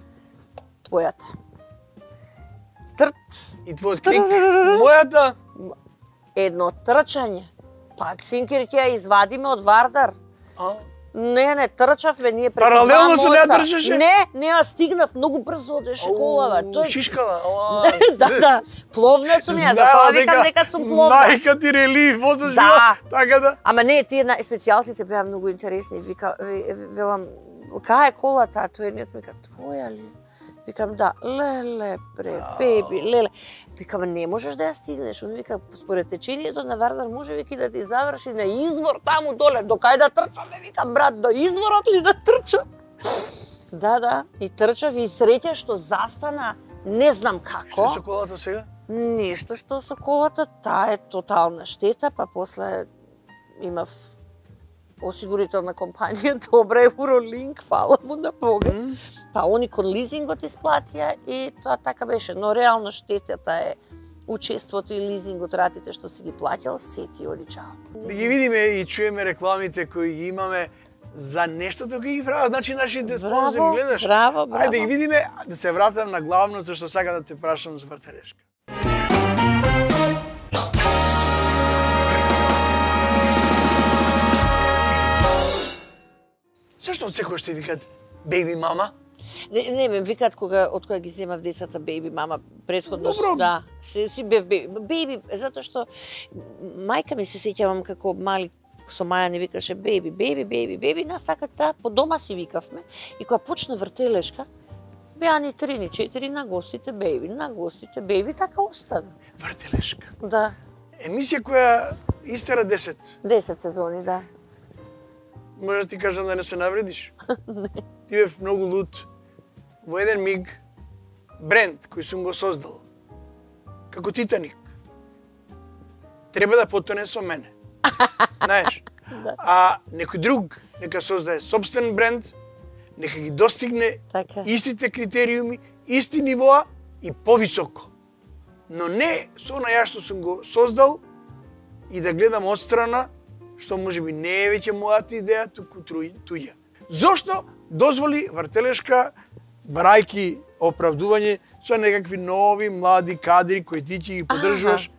"Твојата." Трт. И твојот крик, мојата. Едно трчање. Па цинкер ќе ја извадиме од Вардар. Не, трчавме ние преку Паралелно со неа моста. трчаше? Не, ја стигнав, многу брзо одеше колава. Тој Шишкала. да. Пловна сум ја, затоа викам дека сум пловна. Мајка ти релив, возаш Да. така да. Ама не, тие специјалците беа многу интересни. Велам, кај е колата? Тој едниот ми вика: "Твоја ли?" Викам: "Да." "Леле, беби, леле." Викам: "Не можеш да ја стигнеш." Он вика: "Според течението на Вардар може веќе да ти заврши на извор таму доле. До кај да трчаме?" Викам: "Брат, до изворот ли да трчам?" Да, и трчав и среќа што застана, не знам како. Што со колата сега? Ништо што со колата, таа е тотална штета, па после имав осигурителна компанија, добра Eurolink, фала му на Бога. Па они кон лизингот исплатија и тоа така беше, но реално штетата е учеството и лизингот, ратите што си ги плаќал, се ти оди чао. Да ги видиме и чуеме рекламите кои ги имаме за нештото кои ги прават, значи нашите спонзори гледаш. Браво. Ајде да ги видиме, да се вратам на главното што сака да те прашам за вртелешка. Зашто од секој што викат беби мама? Не, ме викаат од кога ги земав децата беби мама, претходно Добро. да, си бев беби, затоа што мајка ми се сеќавам како мали со Маја не викаше беби, нас така по дома си викавме и кога почна вртелешка, беа ни 3, ни 4 на гостите беби, така остана. Вртелешка. Да. Емисија која истера 10. 10 сезони, да. Може да ти кажам да не се навредиш? Не. Ти бев многу лут. Во еден миг, бренд кој сум го создал, како Титаник, треба да потоне со мене. Знаеш? Да. А некој друг нека создае собствен бренд, нека ги достигне Така. истите критериуми, исти нивоа и повисоко. Но не со она ја што сум го создал и да гледам отстрана, што можеби не е веќе мојата идеја, туку туѓа. Зошто дозволи вртелешка, барајки оправдување со некакви нови млади кадри кои ти ќе ги поддржуваш?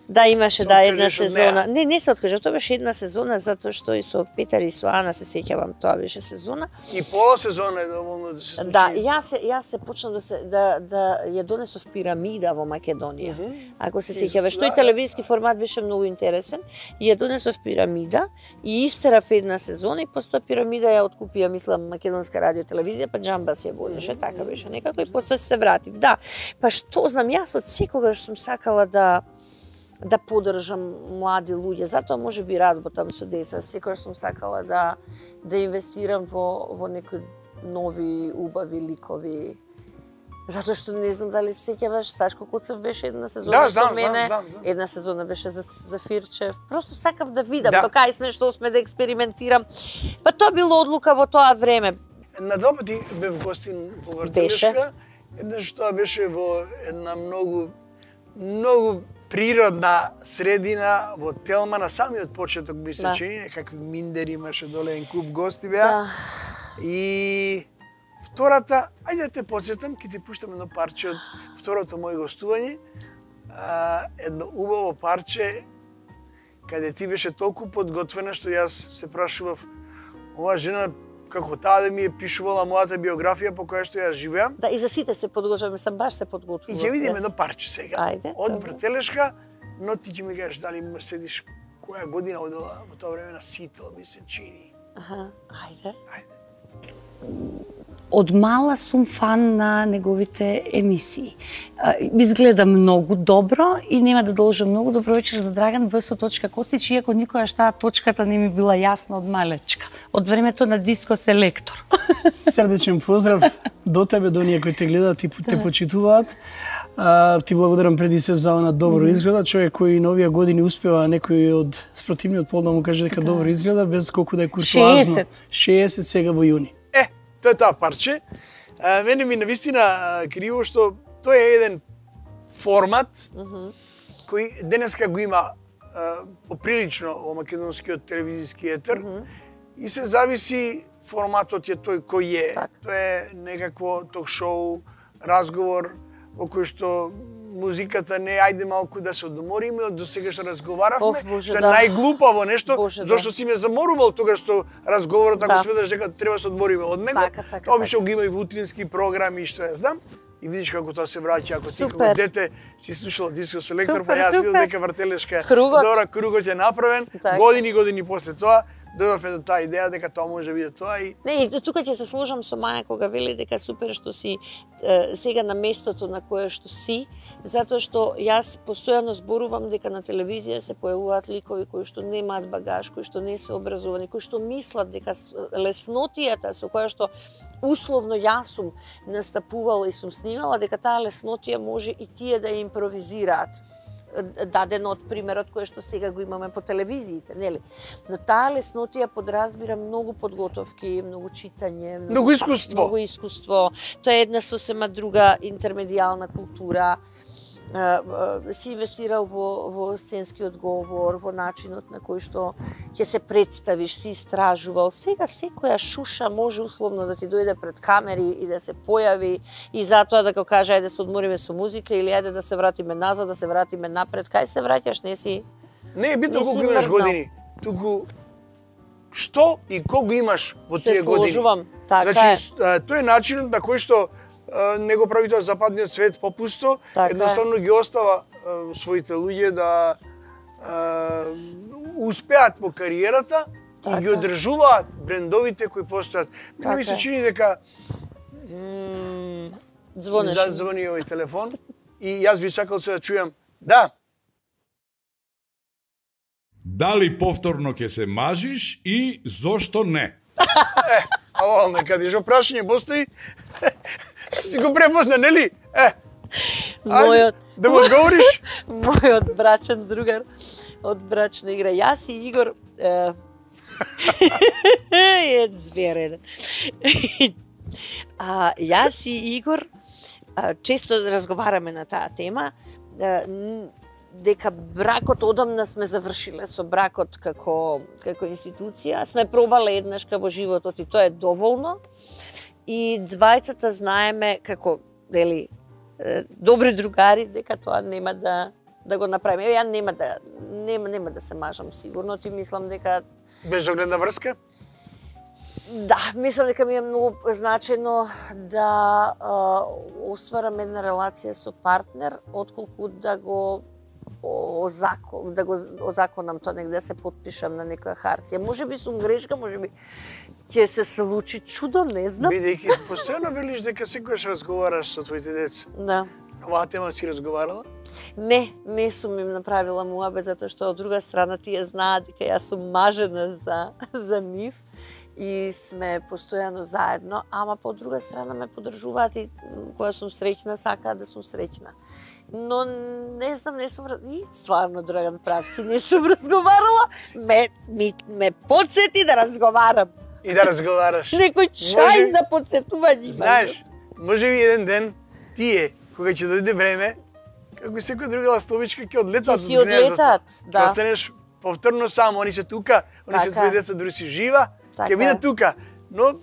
Да, имаше Се една откажеш од сезона. неа? Не се откажав, тоа беше една сезона затоа што и со Петар и со Ана се сеќавам, тоа беше сезона. И пола сезона е доволно да се случи. Да, јас се почнав да ја донесов пирамида во Македонија. Ако се сеќаваш, тој телевизиски формат беше многу интересен. И ја донесов пирамида и истерав една сезона и после тоа пирамида ја откупија, мислам, Македонска радио телевизија, па џамба се ја водеше, така беше некако и после се вратив. Да, па што знам, јас од секогаш сум сакала да поддржам млади луѓе, затоа може би работам со деца, секогаш сум сакала да инвестирам во некои нови убави ликови. Затоа што не знам дали се сеќаваш, Сашко Куцев беше една сезона со мене, една сезона беше за Фирчев. Просто сакав да видам, до кај сме, што сме да експериментирам. Па тоа било одлука во тоа време. На два пати бев гостин во Вртелешка, еднаш тоа беше во една многу природна средина во Телма, на самиот почеток би се чини, некакви миндери имаше доле, еден куп гости беа. И втората, ајде да те подсетам, ќе ти пуштам едно парче од второто моје гостување. Едно убаво парче, каде ти беше толку подготвена, што јас се прашував, ова жена, како таа да ми е пишувала мојата биографија по која што ја живеам. Да, и за сите се подготвуваме, сам баш се подготвувам. И ќе видиме едно парче сега. Ајде. Од Вртелешка, но ти ќе ми кажеш дали седиш која година одела во тоа време на Сител, ми се чини. Ајде. Од мала сум фан на неговите емисии. Изгледа многу добро и нема да должам многу. Добро вечер за Драган, ВС.Костич, иако никогаш таа точката не ми била јасна од малечка. Од времето на Диско Селектор. Срдечен поздрав до тебе, до оние кои те гледаат и те почитуваат. Ти благодарам преди се за она добро изгледа. Човек кој на овие години успева некој од спротивниот пол да му каже дека добро изгледа, без колку да е куртуазно. 60 сега во јуни. Тоа е таа парче. Мене ми навистина криво што тоа е еден формат кој денеска го има поприлично во македонскиот телевизиски етер и се зависи форматот е тој кој е. Тоа е некакво ток-шоу, разговор во кој што музиката не ајде малку да се одмориме од досега што разговаравме, што е најглупаво нешто, зашто си ме заморувал тогаш што разговорот ако сметаш дека треба да се одмориме од него. Обично го има и во утрински програми што ја знам. И видиш како тоа се враќа, ако ти како дете си слушала Диско Селектор, па јас видел дека вртелешка добра кругот е направен, години после тоа дојдовме до таа идеја дека тоа може да биде тоа и не, и тука ќе се сложам со Маја кога вели дека супер што си сега на местото на кое што си, затоа што јас постојано зборувам дека на телевизија се појавуваат ликови кои што немаат багаж, кои што не се образовани, кои што мислат дека леснотијата со која што условно јас сум настапувала и сум снимала, дека таа леснотија може и тие да ја импровизираат. Даден од примерот кој што сега го имаме по телевизиите, нели? Но таа леснотија подразбира многу подготовки, многу читање, многу искуство. Тоа е една сосема друга интермедијална култура. Си инвестирал во сценскиот говор, во начинот на кој што ќе се представиш, си истражувал. Сега секоја шуша може условно да ти дојде пред камери и да се појави и затоа да го каже ајде се одмориме со музика или ајде да се вратиме назад, да се вратиме напред. Кај се враќаш, не си. Не е битно колку имаш години, туку што и колку имаш во тие години. Се сложувам, така е. Значи, тој е начинот на кој што не го прави тоа западниот свет попусто, едноставно ги остава своите луѓе да успеат во кариерата и ги одржуваат брендовите кои постојат. Мене ми се чини дека звони овој телефон и јас би сакал се да чујам. Да. Дали повторно ќе се мажиш и зошто не? Ало, некаде жо прашање постои. Си го препозна, нели? Мојот да му одговориш? Мојот брачен другар од брачна игра. Јас и Игор е зверен. Јас и Игор често разговараме на таа тема, дека бракот одамна сме завршиле со бракот како институција. Сме пробале еднашка во животот и тоа е доволно. И двајцата знаеме како, нели, добри другари дека тоа нема да го направиме. Ја нема да се мажам сигурно, ти мислам дека безогледна врска? Да, мислам дека ми е многу значајно да остварам една релација со партнер, отколку да го озаконам тоа негде, да се потпишам на некоја хартија. Можеби сум грешка, можеби ќе се случи чудо, не знам. Бидејќи постојано велиш дека секогаш разговараш со твоите деца. Да. Оваа тема си разговарала? Не сум им направила муабет, затоа што од друга страна тие знаат дека јас сум мажена за нив и сме постојано заедно, ама по друга страна ме поддржуваат и кога сум среќна, сакаат да сум среќна. Но не знам, не сум и стварно Драган прав си, не сум разговарала, ме подсети да разговарам. И да разговараш. Некој чај за подсетување. Знаеш, може би еден ден тие, кога ќе дојде време, како секој друга ластовичка ќе одлетат. Си одлетат, да. Ќе останеш повторно само, они се тука, они се твои деца дури си жива, ќе бидат тука. Но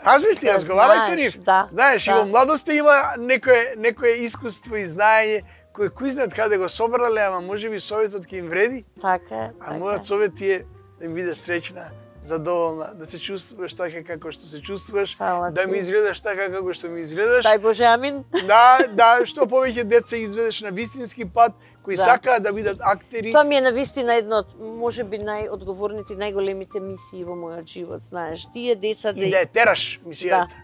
размисли, разговарај со нив. Знаеш, и во младоста има некое искуство и знаење кој знаат каде го собрале, ама можеби советот ќе им вреди. Така е. А мојот совет е да им биде среќна, задоволна, да се чувствуваш така како што се чувствуваш, да ми изгледаш така како што ми изгледаш. Дај Боже, амин. Да, што повеќе деца изведеш на вистински пат, кои сакаат да бидат актери. Тоа ми е навистина едно од можеби најодговорните и најголемите мисии во мојот живот, знаеш. Тие деца и да ја тераш мисијата.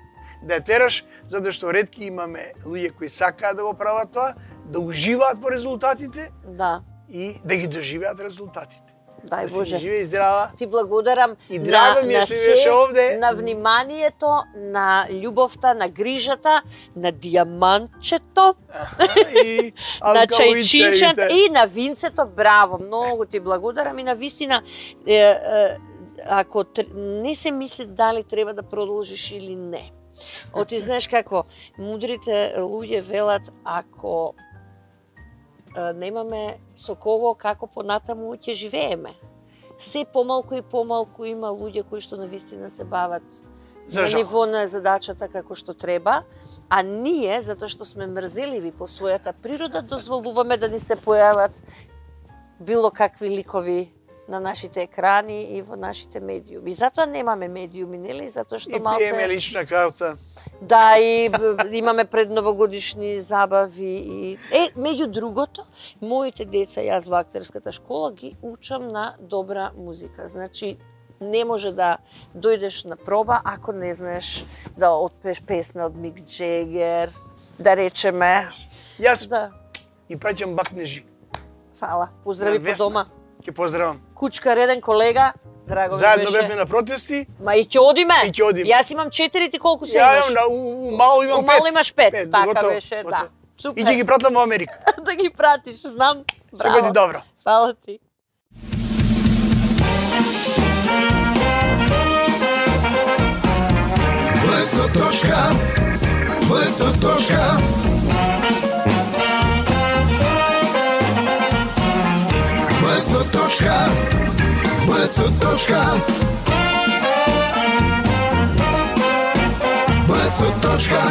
Да ја тераш затоа што ретки имаме луѓе кои сакаат да го прават тоа, да уживаат во резултатите. Да. И да ги доживеат резултатите. Дај Да си Боже. жива и здрава. Ти благодарам И драго ми е што бидеш овде. на вниманието, на љубовта, на грижата, на дијамантчето, И на алкалоичарите. чајчинчето и на винцето. Браво, многу ти благодарам и на вистина ако не се мисли дали треба да продолжиш или не. Оти знаеш како мудрите луѓе велат, ако немаме со кого како понатаму ќе живееме. Се помалку и помалку има луѓе кои што навистина се бават За на жал. ниво на задачата како што треба, а ние, затоа што сме мрзеливи по својата природа, дозволуваме да ни се појават било какви ликови на нашите екрани и во нашите медиуми. Затоа немаме медиуми, нели? Затоа што И пиеме малце... лична карта. Да, и имаме предновогодишни забави и меѓу другото, моите деца, јас во актерската школа ги учам на добра музика. Значи не може да дојдеш на проба ако не знаеш да отпееш песна од Мик Джегер, да речеме. Јас Да, и праќам бакнежи. фала. Поздрави На по Весна. дома. Ќе поздравам. Кучка Реден, колега, драго ми Заедно беше. бевме на протести. Ма и ќе одиме. И ќе одиме. Јас имам 4, ти колку се Ја имаш? имам у мало имам 5. У мало имаш 5, така готово, беше, да. готово. Супер. И ќе ги пратам во Америка. Да ги пратиш, знам. Се Браво. годи добро. Фала ти. Блесоточка, блесоточка. Блесоточка, блесоточка. Блесоточка.